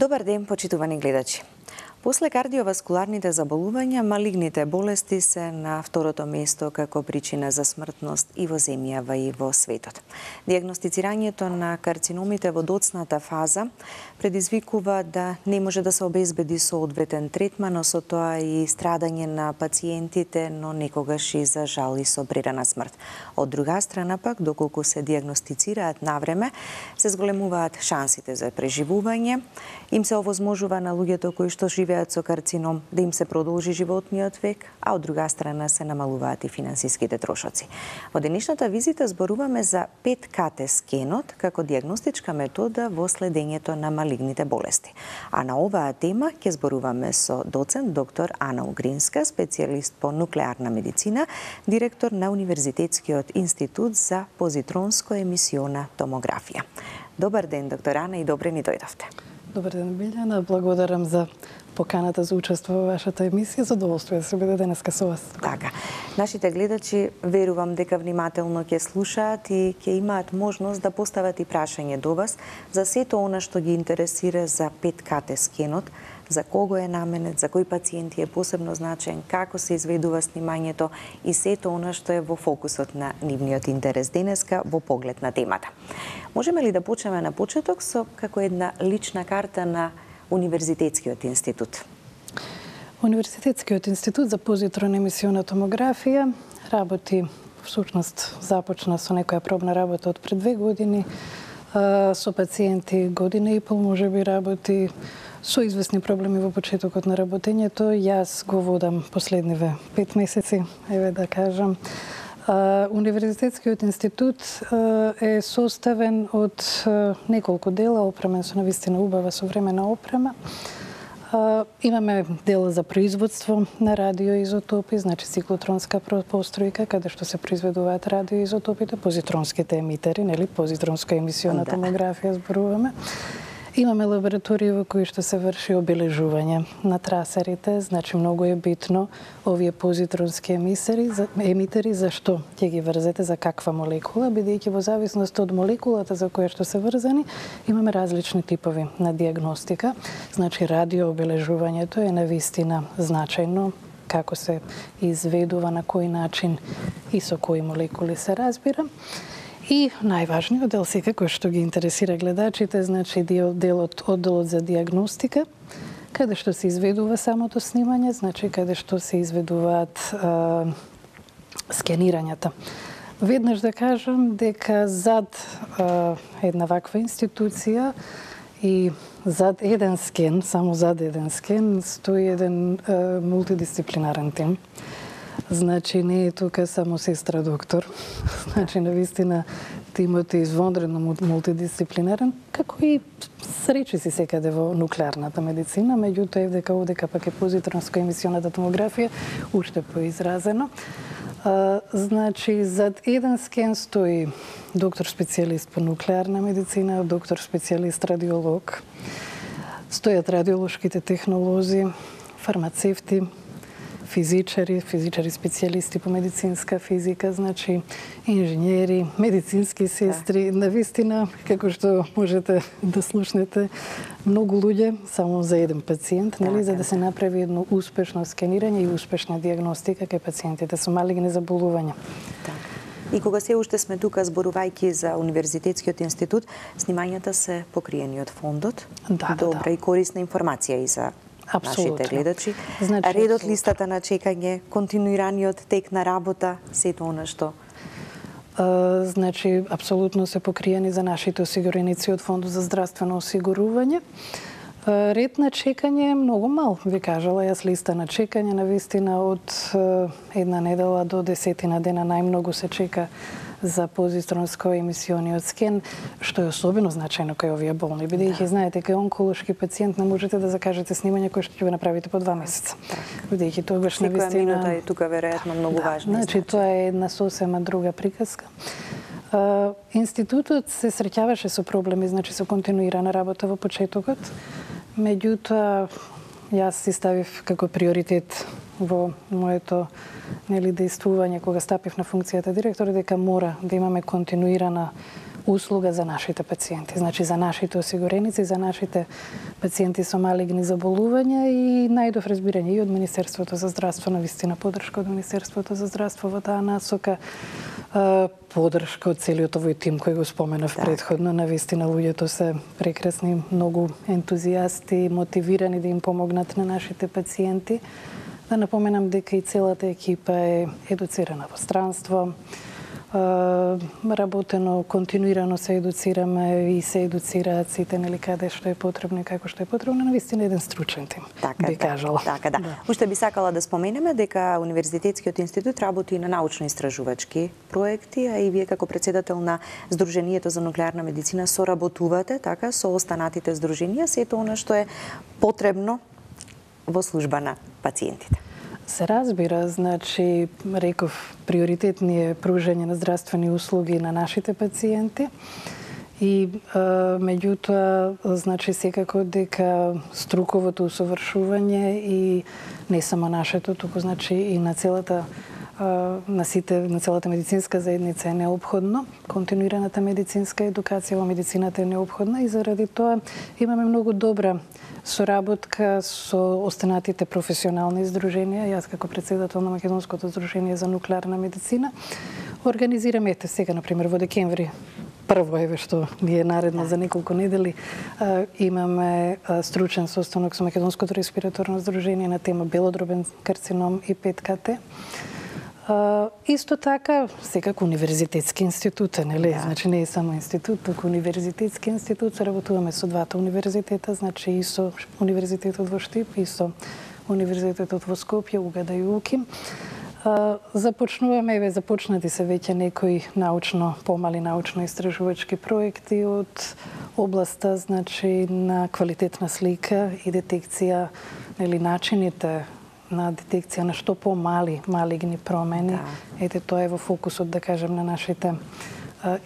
Добар ден, почитувани гледачи. После кардиоваскуларните заболувања, малигните болести се на второто место како причина за смртност и во земјава и во светот. Диагностицирањето на карциномите во доцната фаза предизвикува да не може да се обезбеди соодветен третман, но со тоа и страдање на пациентите, но некогаш и за жал и со прерана смрт. Од друга страна пак, доколку се диагностицираат навреме, се зголемуваат шансите за преживување, им се овозможува на луѓето кои што живеат со карцином да им се продолжи животниот век, а од друга страна се намалуваат и финансиските трошоци. Во денешната визита зборуваме за PET-CT скенот како диагностичка метода во следењето на малигните болести. А на оваа тема ќе зборуваме со доцент доктор Ана Угринска, специјалист по нуклеарна медицина, директор на Универзитетскиот институт за позитронско-емисиона томографија. Добар ден, доктор Ана, и добре ни дојдовте. Добар ден, Билјана. Благодарам за поканата за учество во вашата емисија. Задоволство да се биде денеска со вас. Така. Нашите гледачи, верувам дека внимателно ќе слушаат и ќе имаат можност да постават и прашање до вас за сето она што ги интересира за PET-CT скенот, за кого е наменет, за кои пациенти е посебно значен, како се изведува снимањето и сето она што е во фокусот на нивниот интерес денеска во поглед на темата. Можеме ли да почнеме на почеток со како една лична карта на Универзитетскиот институт? Универзитетскиот институт за позитронно-емисиона томографија работи, всушност започна со некоја пробна работа од пред 2 години, со пациенти година и пол можеби работи, со известни проблеми во почетокот на работењето. Јас го водам последниве 5 месеци, еве да кажам. Универзитетскиот институт е составен од неколку дела, опремен со навистина убава современа опрема. Имаме дел за производство на радиоизотопи, значи циклотронска постројка, каде што се произведуваат радиоизотопите, позитронските емитери, нели, позитронско-емисиона томографија зборуваме. Имаме лабораторија во кои што се врши обележување на трасерите, значи многу е битно овие позитронски емитери, зашто ќе ги врзете, за каква молекула, бидејќи во зависност од молекулата за која што се врзани, имаме различни типови на диагностика. Значи радиообележувањето е навистина значајно, како се изведува, на кој начин и со кои молекули се разбира. И најважниот дел секако што ги интересира гледачите, значи одделот за диагностика, каде што се изведува самото снимање, значи каде што се изведуваат скенирањата. Веднаш да кажам дека зад една ваква институција и зад еден скен, само зад еден скен, стои еден мултидисциплинарен тим. Значи, не е тука само сестра доктор. Значи, навистина, тимот е извонредно мултидисциплинарен, како и сречи си секаде во нуклеарната медицина, меѓутоа дека овдека пак е позитронско-емисионата томографија, уште поизразено. Значи, зад еден скен стои доктор специјалист по нуклеарна медицина, доктор специјалист радиолог, стојат радиолошките технолози, фармацевти, физичари специјалисти по медицинска физика, значи инженери, медицински сестри, навистина, како што можете да слушнете, многу луѓе само за еден пациент, нели, за да се направи едно успешно скенирање и успешна диагностика кај пациентите со малигни заболувања. И кога се уште сме тука зборувајќи за Универзитетскиот институт, снимањата се покриени од фондот. Добра и корисна информација и за нашите гледачи. Значи, редот, листата на чекање, континуираниот тек на работа, сето она што... Значи, апсолутно се покриени за нашите осигуреници од Фондот за здравствено осигурување. Ред на чекање е многу мал, ви кажала јас, листа на чекање, навистина од една недела до 10 дена најмногу се чека за позитронско-емисиониот скен, што е особено значајно кај овие болни, бидејќи знаете, кај онколошки пациент не можете да закажете снимање кое што ќе го направите по 2 месеца. Бидејќи тогаш навистина... Секоја минута е тука веројатно многу важна. Значи, тоа е една сосема друга приказка. Институтот се среќаваше со проблеми, значи со континуирана работа во почетокот. Меѓутоа, јас си ставив како приоритет во моето действување кога стапив на функцијата директор дека мора да имаме континуирана услуга за нашите пациенти, значи за нашите осигуреници, за нашите пациенти со малигни заболувања и најдов разбирање и од Министерството за здравство, навистина поддршка од Министерството за здравство во таа насока, поддршка од целиот овој тим кој го споменав претходно. Навистина луѓето се прекрасни, многу ентузијасти, мотивирани да им помогнат на нашите пациенти. Да напоменам дека и целата екипа е едуцирана во странство, работено, континуирано се едуцираме и се едуцираат сите, нели, каде што е потребно и како што е потребно, навистина еден стручен тим, би кажала. Така, да. Уште би сакала да споменеме дека Универзитетскиот институт работи на научно-истражувачки проекти, а и вие како председател на Сдруженијето за нуклеарна медицина соработувате така со останатите здруженија, сето она што е потребно во служба на пациентите. Се разбира, значи, реков, приоритет ни е пружање на здравствени услуги на нашите пациенти и меѓутоа, значи, секако дека струковото усовршување и не само нашето, туку значи и на целата на целата медицинска заедница е неопходно. Континуираната медицинска едукација во медицината е неопходна и заради тоа имаме многу добра соработка со останатите професионални здруженија. Јас како председател на Македонското здружение за нуклеарна медицина организираме сега, например, во декември, прво еве што ни е наредно за неколку недели, имаме стручен состанок со Македонското респираторно здружение на тема белодробен карцином и 5КТ. Исто така, секако универзитетски институт, нели? Значи не е само институт, туку универзитетски институт. Соработуваме со двата универзитета, значи и со Универзитетот во Штип и со Универзитетот во Скопје, Угада и Уким. Започнуваме, започнати се веќе некои помали научно-истражувачки проекти од областа, значи, на квалитетна слика и детекција, нели, начините на детекција на што помали малигни промени. Ете, тоа е во фокусот, да кажем, на нашите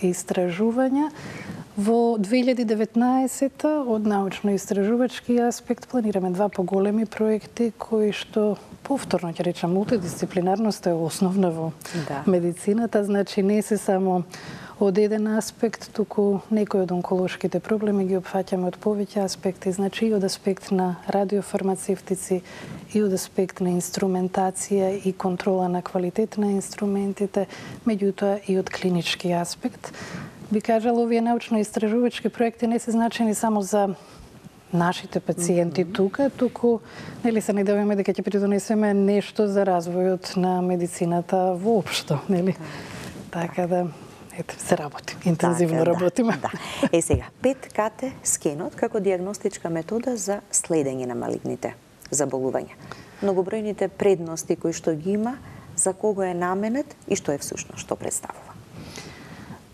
истражувања. Во 2019 од научно-истражувачки аспект планираме два поголеми проекти кои што повторно ќе речам мултидисциплинарноста е основна во медицината, значи не се само од еден аспект, туку некои од онколошките проблеми ги опфаќаме од повеќе аспекти, значи и од аспект на радиофармацевтици, и од аспект на инструментација и контрола на квалитет на инструментите, меѓутоа и од клинички аспект. Би кажала, овие научно-истражувачки проекти не се значени само за нашите пациенти тука, туку нели се надеваме дека ќе придонесеме нешто за развојот на медицината воопшто, нели? Така да се работи, интензивно работиме. Сега, 5КТ скенот како диагностичка метода за следење на малигните заболувања. Многобројните предности кои што ги има, за кого е наменет и што е всушност, што представува?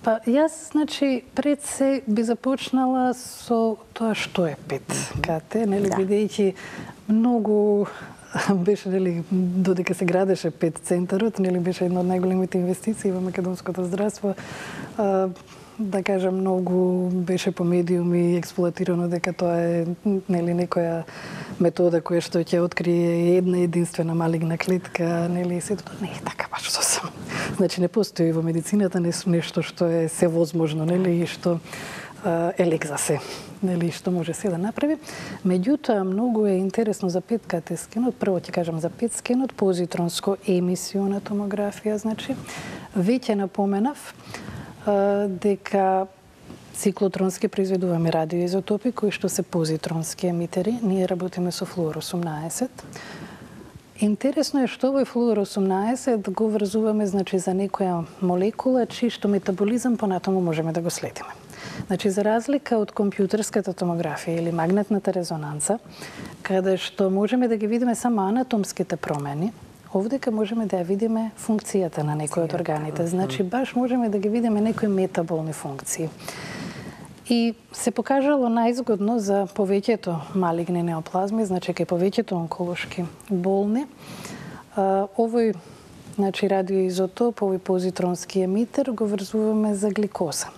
Па јас, значи, пред се би започнала со тоа што е 5КТ, нели, бидејќи многу беше, нели, додека се градеше 5 центарот, нели, беше една од најголемите инвестиции во македонското здравство. Да кажам, многу беше по медиуми експлоатирано дека тоа е, нели, некоја метода која што ќе открие една единствена малигна клетка, нели, сето тоа не е така баш сосем. Значи не постои во медицината нешто што е севозможно, нели, и што е лек за се, нели, што може се да направи. Меѓутоа, многу е интересно за 5КТ скенот, прво ќе кажам за 5 скенот, позитронско емисиона томографија, значи, веќе напоменав дека циклотронски произведуваме радиоизотопи кои што се позитронски емитери. Ние работиме со флуор-18. Интересно е што овој флуор-18 го врзуваме, значи, за некоја молекула чии што метаболизам понатаму можеме да го следиме. Значи, за разлика од компјутерската томографија или магнетната резонанца, каде што можеме да ги видиме само анатомските промени, овдека можеме да ја видиме функцијата на некој од органите. Значи, баш можеме да ги видиме некои метаболни функции. И се покажало најзгодно за повеќето малигни неоплазми, значи кај повеќето онколошки болни. Овој, значи, радиоизотоп, овој позитронски емитер го врзуваме за гликоза.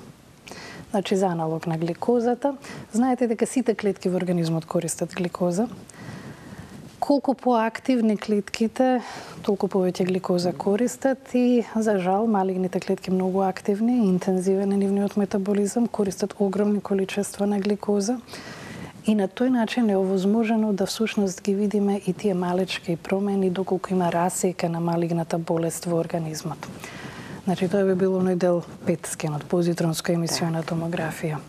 Значи, за аналог на гликозата. Знаете дека сите клетки во организмот користат гликоза. колку поактивни клетките, толку повеќе гликоза користат и, за жал, малигните клетки многу активни, интензивен е нивниот метаболизам, користат огромни количества на гликоза. И на тој начин е овозможено да всушност ги видиме и тие малечки промени доколку има расека на малигната болест во организмот. Значи, тоа би било оној дел 5 скенот, позитронска емисиона томографија.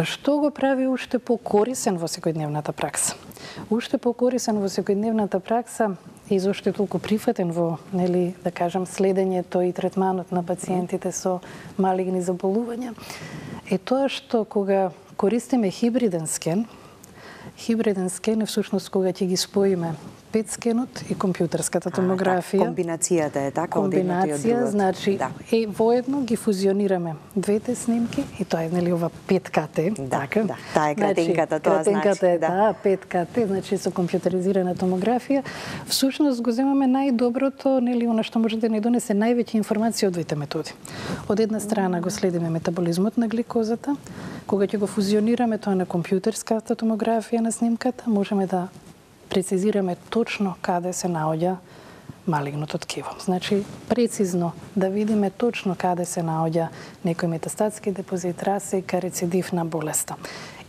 Што го прави уште покорисен во секојдневната пракса? Уште покорисен во секојдневната пракса и зошто е толку прифатен во, нели, да кажам, следењето и третманот на пациентите со малигни заболувања, е тоа што кога користиме хибриден скен е всушност кога ќе ги споиме PET скенот и компјутерската томографија. Комбинацијата е така, комбинација, значи воедно ги фузионираме двете снимки и тоа е, нели, ова 5KT, така? Да, таа е кратенката, тоа значи. Кратенката е таа, 5KT, значи со компјутеризирана томографија. Всушност го земаме најдоброто, нели, она што може да ни донесе највеќе информација од двете методи. Од една страна го следиме метаболизмот на гликозата, кога ќе го фузионираме тоа на компјутерската томографија на снимката, можеме да прецизираме точно каде се наоѓа малигното ткиво. Значи, прецизно да видиме точно каде се наоѓа некој метастатски депозит, расека, рецидив на болеста.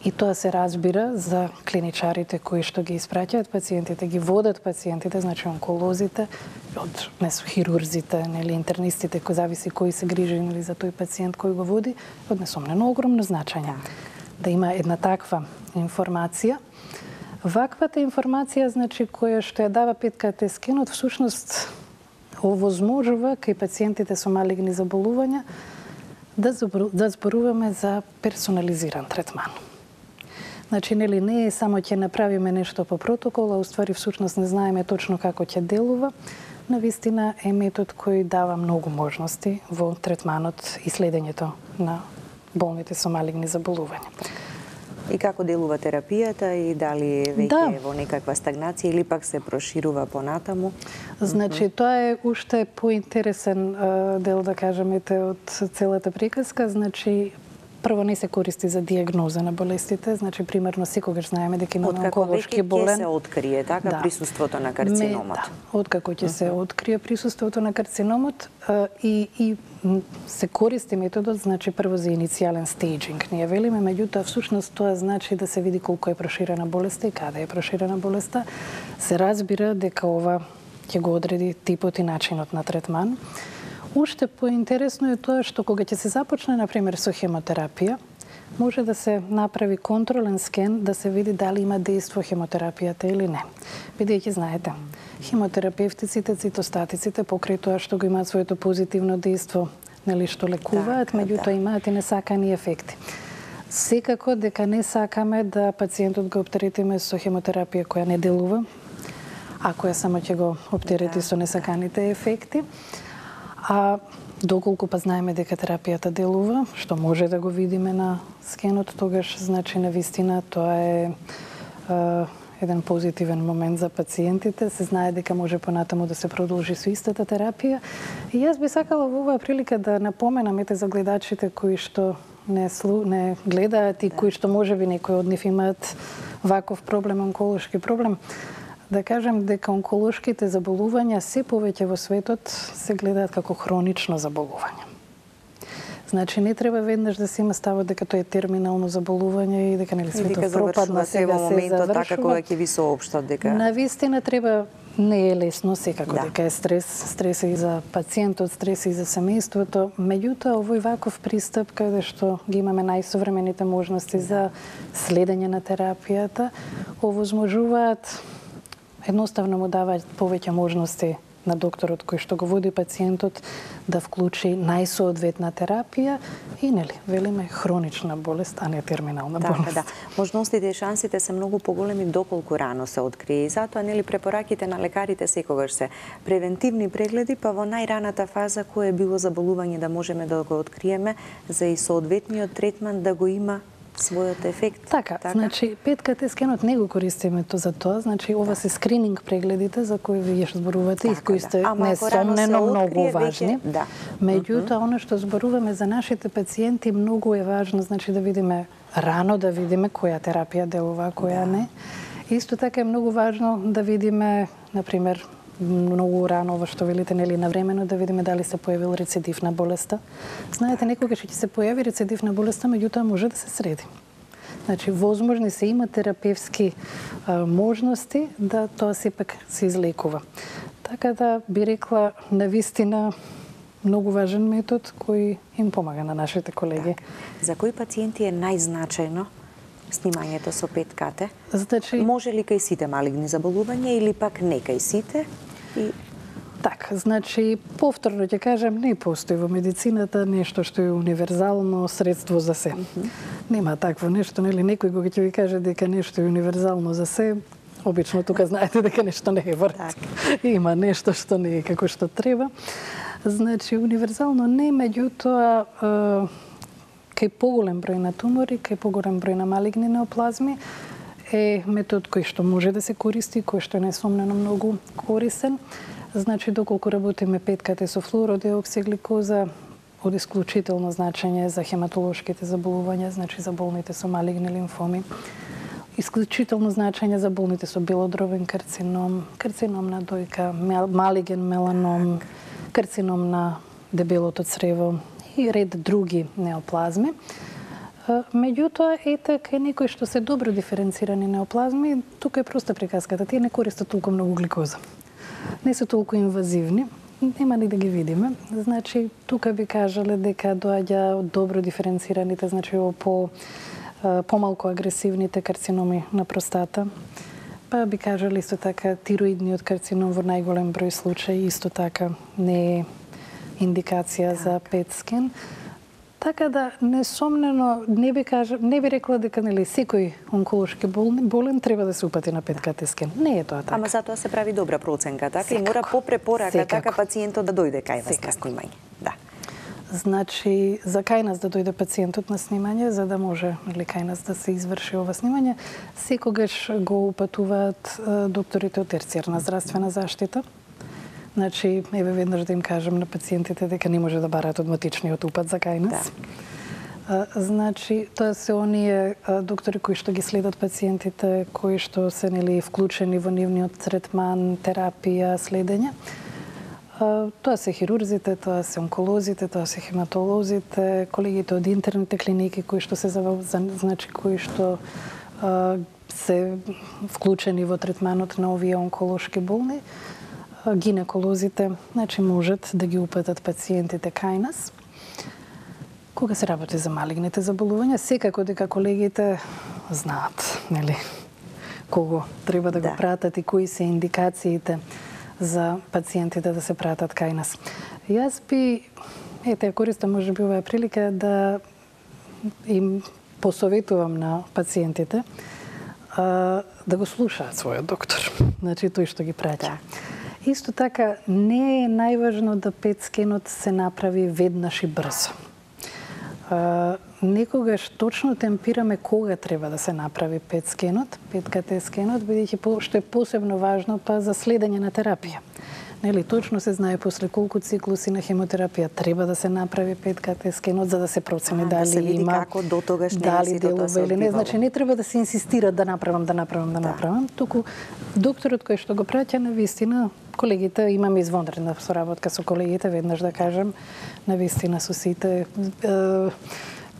И тоа се разбира за клиничарите кои што ги испраќаат пациентите, ги водат пациентите, значи онколозите, од хирурзите, нели, интернистите, кои зависи кои се грижи, нели, за тој пациент кој го води, од несомнено огромно значење. Да има една таква информација. Ваквата информација, значи, која што ја дава 5KT скенот, всушност овозможува кај пациентите со малигни заболувања да зборуваме за персонализиран третман. Значи, нели, не е само ќе направиме нешто по протокол, а уствари всушност не знаеме точно како ќе делува. Навистина е метод кој дава многу можности во третманот и следењето на болните со малигни заболувања. И како делува терапијата и дали веќе е во некаква стагнација или пак се проширува понатаму? Значи, тоа е уште поинтересен дел, да кажемете, од целата приказка. Значи, прво не се користи за диагноза на болестите, значи примерно секогаш знаеме дека имаме онколошки болен. Откако веќе ќе се открие така присуството на карциномот. Откако ќе се открие присуството на карциномот и се користи методот, значи прво за иницијален стейджинг. Ние велиме, меѓутоа всушност тоа значи да се види колку е проширена болеста и каде е проширена болеста. Се разбира дека ова ќе го одреди типот и начинот на третман. Уште поинтересно е тоа што кога ќе се започне, например, со хемотерапија, може да се направи контролен скен да се види дали има дејство хемотерапијата или не. Бидејќи знаете, хемотерапевтиците, цитостатиците, покрај тоа што го имаат своето позитивно дејство, нели, што лекуваат, меѓутоа имаат и несакани ефекти. Секако дека не сакаме да пациентот го оптеретиме со хемотерапија која не делува, а која само ќе го оптерети со несаканите ефекти. А доколку па знаеме дека терапијата делува, што може да го видиме на скенот, тогаш, значи, навистина тоа е еден позитивен момент за пациентите. Се знае дека може понатаму да се продолжи со истата терапија. И јас би сакала во оваа прилика да напоменам за гледачите кои што не гледаат и кои што можеби некои од нив имаат ваков проблем, онколошки проблем, да кажем дека онколошките заболувања се повеќе во светот се гледаат како хронично заболување. Значи, не треба веднаш да се има ставот дека тоа е терминално заболување и дека, нели, светот пропадна, сега се завршува. Така кога ќе ви соопштат дека... Навистина треба, не е лесно, секако дека е стрес и за пациентот, стрес и за семејството. Меѓутоа, овој ваков пристап, каде што ги имаме најсовремените можности за следење на терапијата, овозможуваат, едноставно му даваат повеќе можности на докторот кој што го води пациентот да вклучи најсоодветна терапија и, нели, велиме хронична болест, а не терминална болест. Да. Можностите и шансите се многу поголеми доколку рано се открие и затоа, нели, препораките на лекарите секогаш се превентивни прегледи, па во најраната фаза кое било заболување да можеме да го откриеме за и соодветниот третман да го има својот ефект. Така, значи 5KT скенот не го користиме за тоа, значи ова се скрининг прегледите за кои вие што зборувате и кои сте несомнено многу важни. Меѓутоа, она што зборуваме за нашите пациенти многу е важно, значи да видиме рано, да видиме која терапија делува, која не. Исто така е многу важно да видиме, например, многу рано, ова што велите, нели, навремено, да видиме дали се појавил рецидив на болеста. Знаете, некогаш ќе се појави рецидив на болеста, меѓутоа може да се среди. Значи, возможни се има терапевски можности да тоа сепак се излекува. Така да би рекла, навистина, многу важен метод кој им помага на нашите колеги. За кои пациенти е најзначајно снимањето со ПЕТ-КТ? Значи, може ли кај сите малигни заболувања или пак не кај сите? Така, значи, повторно ќе кажам, не постои во медицината нешто што е универзално средство за се. Нема такво нешто, нели, некој кога ќе ви каже дека нешто е универзално за се, обично тука знаете дека нешто не е врт. Има нешто што не е како што треба. Значи, универзално не, меѓутоа, кај поголем број на тумори, кај поголем број на малигни неоплазми, е метод кој што може да се користи, кој што е несомнено многу корисен. Значи, доколку работиме ПЕТ-КТ со флуородиоксигликоза, од исклучително значење за хематолошките заболувања, значи за болните со малигни лимфоми. Исклучително значење за болните со белодробен карцином, карцином на дојка, малиген меланом, карцином на дебелото црево и ред други неоплазми. Меѓутоа, ете, кај некои што се добро диференцирани неоплазми, тука е проста приказката. Тие не користат толку многу гликоза. Не се толку инвазивни, нема ни да ги видиме. Значи, тука би кажале дека доаѓа добро диференцираните, значи помалку агресивните карциноми на простата. Па би кажале исто така тироидниот карцином во најголем број случаи, исто така не е индикација за ПЕТ-скен. Така да, несомнено, не би рекла дека, нели, секој онколошки болен треба да се упати на ПЕТ-КТ скен. Не е тоа така. Ама затоа се прави добра проценка, така? И мора по препорака, така пациентот да дојде кај вас на снимање. Да. Значи, за кај нас да дојде пациентот на снимање, за да може, нели, кај нас да се изврши ова снимање, секогаш го упатуваат докторите од терцијарна здравствена заштита. Значи, еве веднаш да им кажам на пациентите дека не може да бараат од матичниот упат за кај нас. Да. Значи, тоа се оние доктори кои што ги следат пациентите, кои што се, нели, вклучени во нивниот третман, терапија, следење. Тоа се хирурзите, тоа се онколозите, тоа се хематолозите, колегите од интерните клиники кои што значи кои што се вклучени во третманот на овие онколошки болни. Гинеколозите, значи можат да ги упатат пациентите кај нас. Кога се работи за малигните заболувања, секако дека колегите знаат, нели, кого треба да го пратат и кои се индикациите за пациентите да се пратат кај нас. Јас би, користам можеби оваа прилика да им посоветувам на пациентите да го слушаат својот доктор, значи тој што ги праќа. Исто така, не е најважно да ПЕТ-скенот се направи веднаш и брзо. Некогаш точно темпираме кога треба да се направи ПЕТ-скенот, ПЕТ-КТ скенот, бидејќи што е посебно важно па за следење на терапија. Нели, точно се знае после колку циклуси на хемотерапија треба да се направи ПЕТ-КТ скенот за да се процени дали да се види има како дотогаш дали делува или не. Значи не треба да се инсистира да направам. Туку докторот кој што го праќа навистина, колегите, имаме извонредна соработка со колегите, веднаш да кажам, навистина со сите.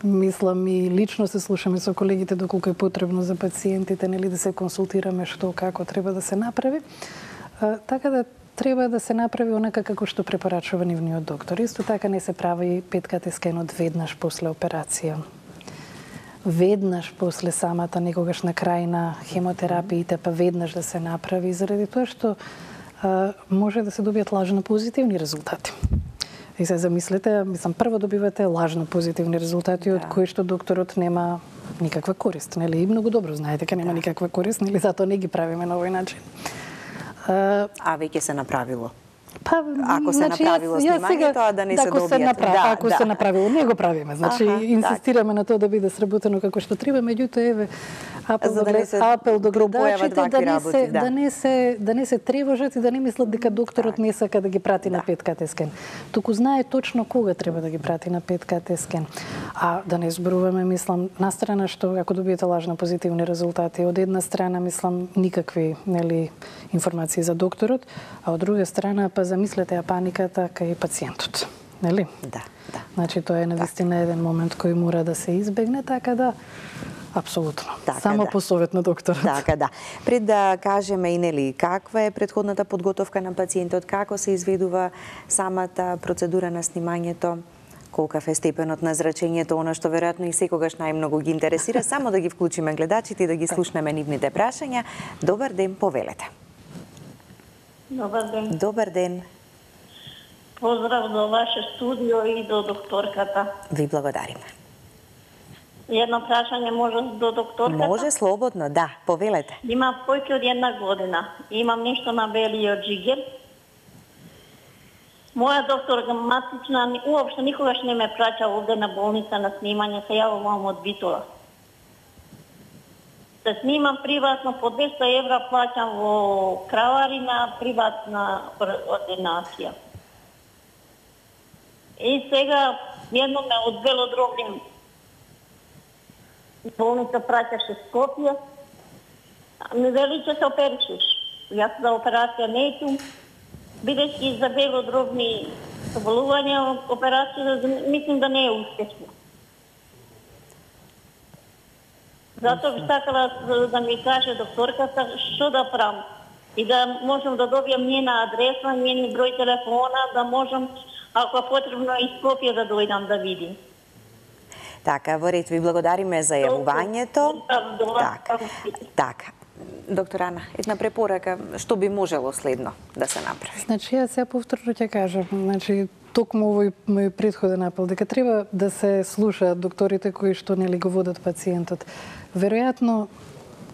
Мислам и лично се слушаме со колегите доколку е потребно за пациентите, нели, да се консултираме што како треба да се направи. Така да треба да се направи онака како што препорачува нивниот доктор. Исто така не се прави ПЕТ-КТ скенот веднаш после операција. Веднаш после самата, некогаш на крај на хемотерапиите, па веднаш да се направи, заради тоа што може да се добијат лажно позитивни резултати. И се замислете, мислам, прво добивате лажно позитивни резултати од кои што докторот нема никаква корист, нели? И многу добро знаете дека нема никаква корист, нели? Затоа не ги правиме на овој начин. А веќе се направило? Па, ако се направило снимањето, да не се добијат. Ако се направило, не го правиме. Значи, инсистираме на тоа да биде сработено како што треба, меѓутоа, еве, апел до гледачите да не се тревожат и да не мислат дека докторот не сака да ги прати на ПЕТ-КТ скен. Туку знае точно кога треба да ги прати на ПЕТ-КТ скен. А да не зборуваме, мислам, на страна што ако добиете лажно позитивни резултати, од една страна мислам никакви, нели, информации за докторот, а од друга страна па замислете ја паниката кај пациентот, нели? Да. Значи тоа е навистина еден момент кој мора да се избегне, така да апсолутно. Само по совет на докторот. Така да. Пред да кажеме и нели каква е претходната подготовка на пациентот, како се изведува самата процедура на снимањето, колкав е степенот на зрачењето, она што веројатно и секогаш најмногу ги интересира, само да ги вклучиме гледачите и да ги слушнеме нивните прашања. Добар ден, повелете. Добар ден. Добар ден. Поздрав до ваше студио и до докторката. Ви благодариме. Едно прашање може до докторката? Може слободно, да, повелете. Имам појќе од 1 година. Имам нешто на белиот джигер. Моја докторка матична уопште никогаш не ме праќа овде на болница на снимање, се јавувам од Битола. Се снимам приватно по 200 евра, плаќам во Краварина, приватна ординација. И сега едно ме од Велодробни болница праќаше Скопје. Ми вели че се оперишеш. Јас за операција не итум, бидејќи за белодробни заболувања операција мислим да не е успешна. Затоа би сакала да ми каже докторката што да правам и да можам да добијам njena адреса, njen број телефона, да можам, ако е потребно, и Скопје да дојдам да видим. Така, во ред, ви благодариме за јавувањето. Така. Доктор Ана, една препорака, што би можело следно да се направи? Значи, јас сега повторно ќе кажам, значи, токму овој мој претходен апел, дека треба да се слушаат докторите кои што нели го водат пациентот. Веројатно,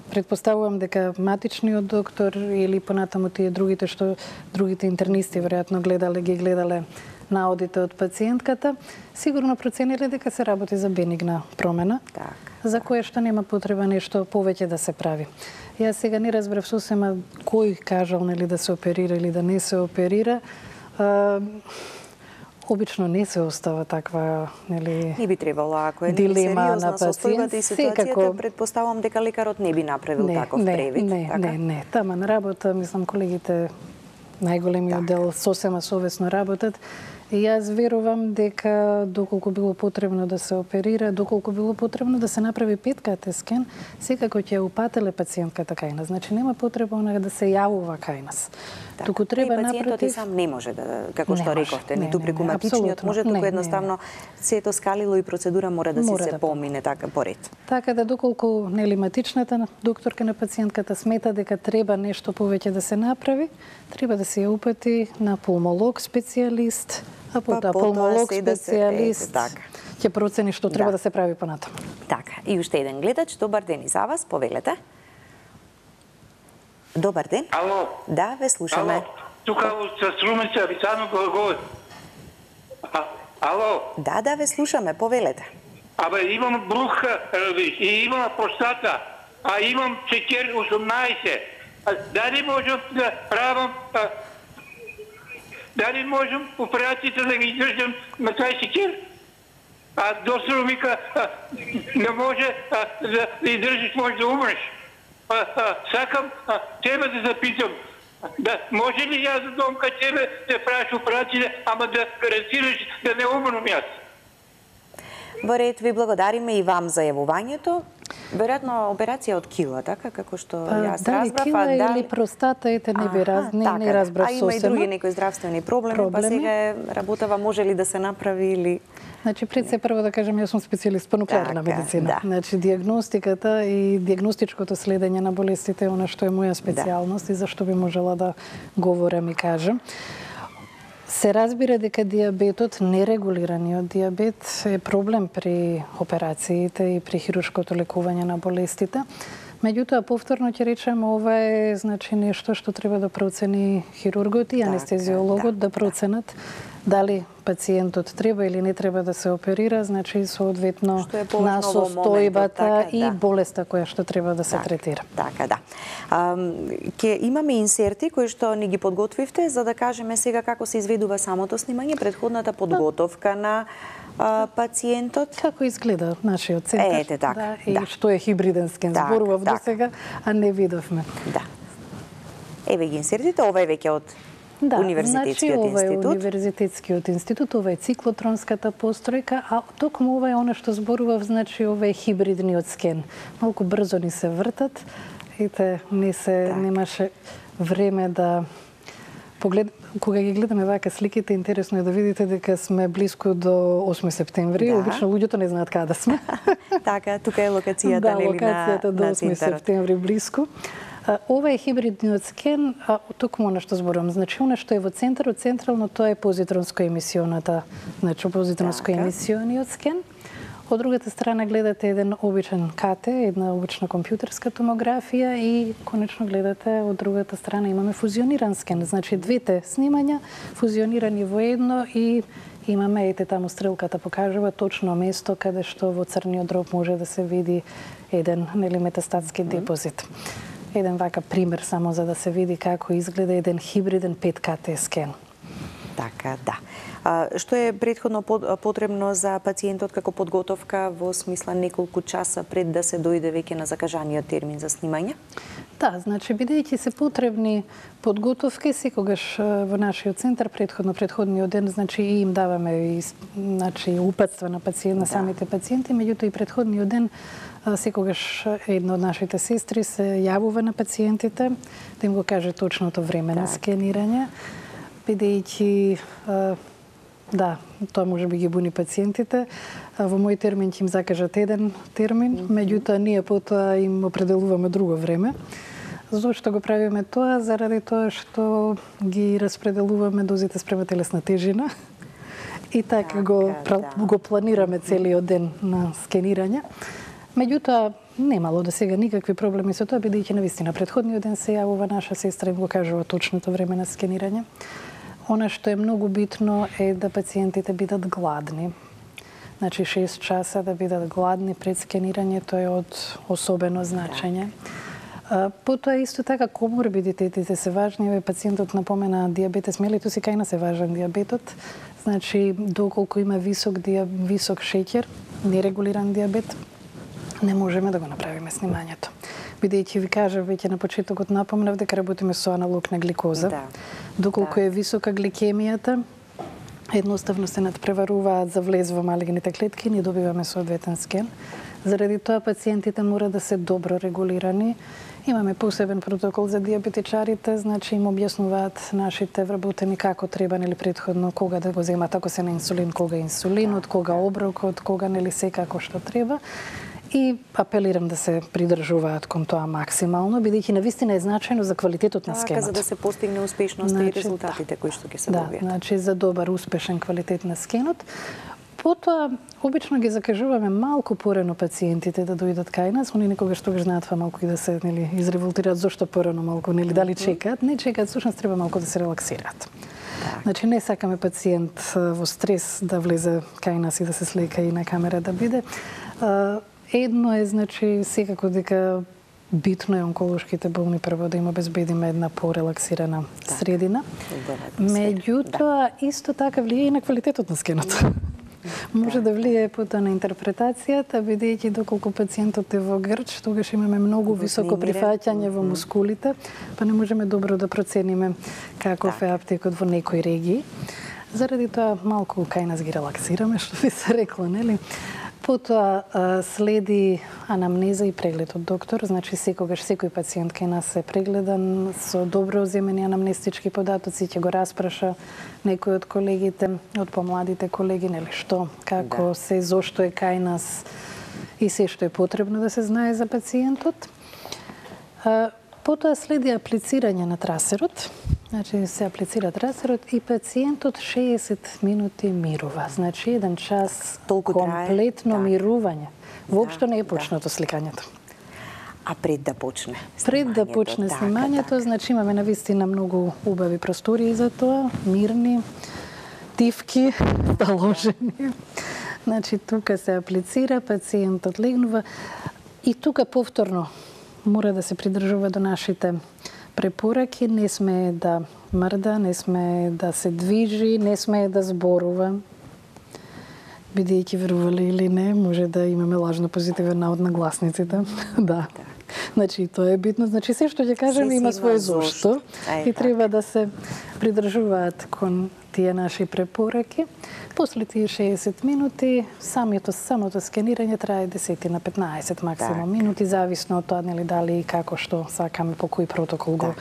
предпоставувам дека матичниот доктор или понатаму тие другите интернисти веројатно ги гледале наодите од пациентката, сигурно процениле дека се работи за бенигна промена, за кое што нема потреба нешто повеќе да се прави. Јас сега не разбрав сосема кој кажал нели да се оперира или да не се оперира. Обично не се остава таква, нели, не би требало, ако е дилема на состојбата и ситуацијата, предпоставувам дека лекарот не би направил таков превид. Не, тама на работа, мислам, колегите најголемиот дел сосема совесно работат. И јас верувам дека доколку било потребно да се оперира, доколку било потребно да се направи ПЕТ-КТ скен, секако ќе упателе пациентката кај нас. Значи нема потреба она да се јавува кај нас. Туку треба пациентот и сам не може да, како што рековте, ниту преку матичниот може, туку едноставно сето скалило и процедура мора да се помине така поред. Така да доколку нели матичната докторка на пациентката смета дека треба нешто повеќе да се направи, треба да се ја упати на пулмолог специјалист, а потоа пулмолог специјалист ќе процени што треба да се прави понатаму. Така, и уште еден гледач, добар ден и за вас, повелете. Добар ден. Ало. Да, ве слушаме. Ало. Тука со Струмица, Вицано говори. Ало. Да, ве слушаме, повелете. Абе, имам брух и имам простата, а имам цекер 18. Дали можам да правам дали можам операцијата да ги издржам на тај цекер? А доктор вика, не може да издржиш, може да умреш. Сакам тебе да запитам, може ли јас да дом кај тебе да правиш операција, ама да гарантираш да не умрам јас? Во ред, ви благодариме и вам за јавувањето. Веројатно операција од кила, така како што јас разбрав. Дали кила или простата, не разбрав сосема. А има и други некои здравствени проблеми, па сега работава може ли да се направи или... Значи, пред се прво да кажем, јас сум специјалист по нуклеарна медицина. Значи, диагностиката и диагностичкото следење на болестите е она што е моја специјалност и зашто би можела да говорам и кажам. Се разбира дека диабетот, нерегулираниот диабет, е проблем при операциите и при хируршкото лекување на болестите. Меѓутоа, повторно ќе речем, ова е значи нешто што треба да процени хирургот и анестезиологот да проценат дали пациентот треба или не треба да се оперира, значи соодветно на состојбата и болеста која што треба да се третира. Така, да. Ќе имаме инсерти кои што ни ги подготвивте за да кажеме сега како се изведува самото снимање, предходната подготовка на пациентот. Како изгледа нашиот центар? Ете така, и што е хибриден скен, зборував до сега, а не видовме. Да. Еве ги инсертите, ова е веќе од Универзитетскиот институт. Ова е Универзитетскиот институт, ова е циклотронската постројка, а токму ова е она што зборував, значи ова е хибридниот скен. Малку брзо ни се вртат, ете, немаше време да кога ги гледаме вака сликите, интересно е да видите дека сме близко до 8 септември. Обично луѓето не знаат каде сме. Така, тука е локацијата, нели, локацијата до 8 септември близко. Ова е хибридниот скен, токму на што зборувам. Значи, она што е во центарот, централно, тоа е позитронско-емисионата, значи позитронско-емисиониот скен. Од другата страна гледате еден обичен КТ, една обична компјутерска томографија и конечно гледате од другата страна имаме фузиониран скен. Значи, двете снимања фузионирани во едно и имаме, ете таму стрелката покажува точно место каде што во црниот дроб може да се види еден метастатски депозит. Еден вака пример само за да се види како изгледа еден хибриден 5КТ скен. Така, да. Што е претходно потребно за пациентот како подготовка во смисла неколку часа пред да се дојде веќе на закажаниот термин за снимање? Да, значи бидејќи се потребни подготовки, секогаш во нашиот центар предходниот ден, значи и им даваме значи упатства на на самите пациенти, меѓутоа и предходниот ден секогаш една од нашите сестри се јавува на пациентите да им го каже точното време на скенирање, бидејќи да, тоа може би ги буни пациентите. Во мој термин ќе им закажат еден термин, меѓутоа ние потоа им определуваме друго време. Зошто го правиме тоа? Заради тоа што ги распределуваме дозите спрема телесна тежина и така го планираме целиот ден на скенирање. Меѓутоа, немало до сега никакви проблеми со тоа, бидејќи навистина предходниот ден се јавува наша сестра и им го кажува точното време на скенирање. Она што е многу битно е да пациентите бидат гладни. Значи 6 часа да бидат гладни пред скенирањето е од особено значење. Потоа исто така коморбидитетите се важни. Пациентот напомена диабетес мелитус и кај нас е важен диабетот. Значи доколку има висок шеќер, нерегулиран диабет, не можеме да го направиме снимањето. Бидејќи ви кажав веќе на почетокот напомнав дека работиме со аналог на гликоза. Доколку е висока гликемијата, едноставно се надпреваруваат за влез во малигните клетки и не добиваме соодветен скен. Заради тоа пациентите мора да се добро регулирани. Имаме посебен протокол за диабетичарите, значи им објаснуваат нашите вработени како треба предходно кога да го земат ако се на инсулин, кога инсулинот, кога оброкот, кога секако што треба. И апелирам да се придржуваат кон тоа максимално, бидејќи навистина е значајно за квалитетот на скенот. За да се постигне успешноста и резултатите кои што ќе се добијат. Да, значи за добар, успешен квалитет на скенот. Потоа, обично ги закажуваме малку порано пациентите да дојдат кај нас. Они некогаш тогаш знаат малку и да се изреволтираат зошто порано малку, дали чекаат. Не чекаат, всушност треба малку да се релаксираат. Значи не сакаме пациент во стрес да влезе кај нас и да се слека и на камера да биде. Едно е, значи, секако дека битно е онколошките болни прво да им обезбедиме една порелаксирана средина. Меѓутоа, исто така влие и на квалитетот на скенот. Може да влие потоа на интерпретацијата, бидејќи доколку пациентот е во грч, тогаш имаме многу високо прифаќање во мускулите, па не можеме добро да процениме каков е аптекот во некои регии. Заради тоа малку кај нас ги релаксираме, што би се рекло, нели? Потоа следи анамнеза и преглед од доктор, значи секогаш секој пациент кај нас е прегледан со добро земени анамнестички податоци, ќе го распраша некој од колегите, од помладите колеги, нели што, како се, зошто е кај нас и се што е потребно да се знае за пациентот. Потоа следи аплицирање на трасерот, значи се аплицира трасерот и пациентот 60 минути мирува. Значи 1 час комплетно мирување. Воопшто не е почнато сликањето. А пред да почне снимањето? Пред да почне снимањето, значи имаме навистина многу убави простории за тоа, мирни. тивки положени. Значи, тука се аплицира, пациентот легнува и тука повторно мора да се придржува до нашите препораки. Не сме да мрда, не сме да се движи, не сме да зборува. Бидејќи верували или не, може да имаме лажно позитивен навод на гласниците. Да. Значи, тоа е битно. Значи, се што ќе кажеме има свое зошто и треба да се придржуваат кон тие наши препораки. После тие 60 минути, самото скенирање трае 10 на 15 максимум минути, зависно од тоа дали и како што сакаме, по кој протокол го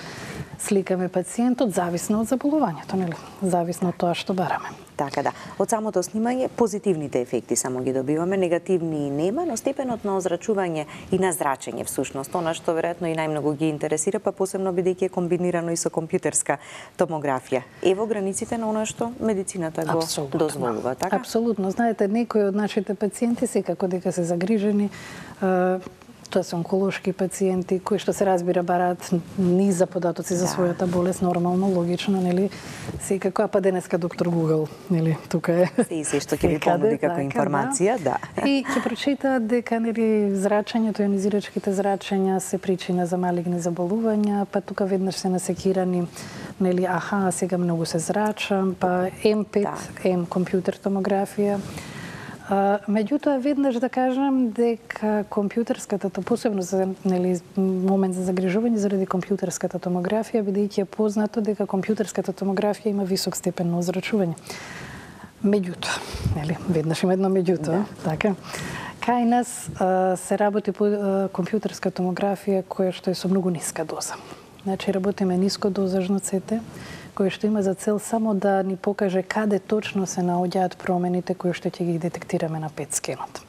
сликаме пациентот, зависно од заболувањето, нели? Зависно од тоа што бараме. Така да. Од самото снимање позитивните ефекти само ги добиваме, негативни нема, но степенот на озрачување и на зрачење всушност, она што веројатно и најмногу ги интересира, па посебно бидејќи е комбинирано и со компјутерска томографија. Ево границите на она што медицината го дозволува, така? Апсолутно. Знаете, некои од нашите пациенти секако дека се загрижени, тоа се онколошки пациенти кои што се разбира бараат низа податоци за својата болест, нормално, логично, нели? Секако, а па денеска доктор Google, нели, тука е. Се што ќе ви понуди како информација, да. И ќе прочитаат дека нели зрачењето, ионизирачките зрачења се причина за малигни заболувања, па тука веднаш се насекирани, нели, аха, сега многу се зрачам, па М5, М компјутер томографија. Меѓутоа, веднаш да кажам дека компјутерската, посебно за момент за загрижување заради компјутерската томографија, бидејќи е познато дека компјутерската томографија има висок степен на озрачување. Меѓутоа, веднаш има едно меѓутоа, така. Кај нас се работи по компјутерска томографија која што е со многу ниска доза. Значи, работиме нискодозажно ЦТ, кој што има за цел само да ни покаже каде точно се наоѓаат промените кои што ќе ги детектираме на ПЕТ скенот.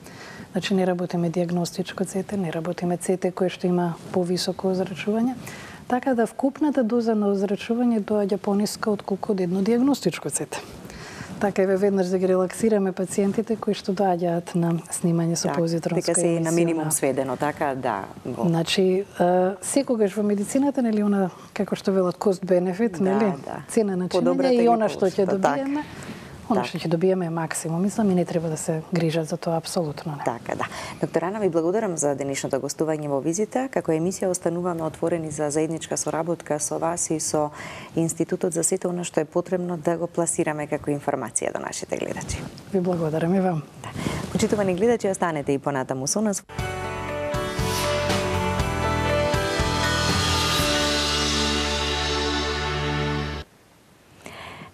Значи, не работиме диагностичко ЦТ, не работиме ЦТ кој што има повисоко озрачување, така да вкупната доза на озрачување доаѓа пониска отколку од едно диагностичко ЦТ. Така е веднаш да ги релаксираме пациентите кои што доаѓаат на снимање со позитронска емисија. Дека се на минимум сведено, така да. Значи, секогаш во медицината, нели, она, како што велат, cost-benefit, нели, цена на чинење и она што ќе добиеме, Она што ќе добиеме максимум, мислам, и не треба да се грижат за тоа, апсолутно не. Така, да. Доктор Ана, ви благодарам за денешното гостување во визита. Како емисија остануваме отворени за заедничка соработка со вас и со Институтот за сето она што е потребно да го пласираме како информација до нашите гледачи. Ви благодарам и вам. Да. Почитувани гледачи, останете и понатаму со нас.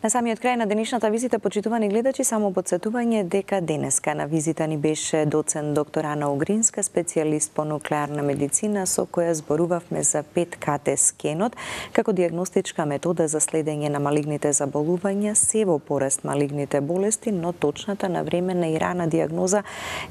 На самиот крај на денешната визита, почитувани гледачи, само подсетување дека денеска на визита ни беше доцент доктор Ана Огринска, специјалист по нуклеарна медицина, со која зборувавме за 5КТ скенот како диагностичка метода за следење на малигните заболувања, се во пораст малигните болести, но точната, навременна и рана диагноза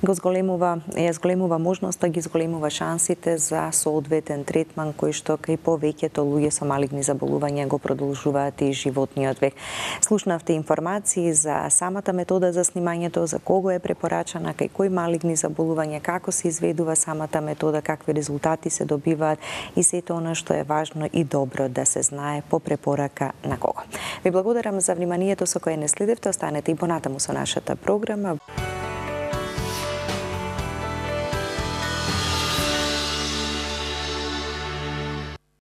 ја зголемува можноста, ги зголемува шансите за соодветен третман кој што кај повеќето луѓе со малигни заболувања го продолжуваат и животниот век. Слушнавте информации за самата метода за снимањето, за кого е препорачана, кај кои малигни заболувања, како се изведува самата метода, какви резултати се добиваат и сето она што е важно и добро да се знае по препорака на кого. Ви благодарам за вниманието со кое не следевте, останете и понатаму со нашата програма.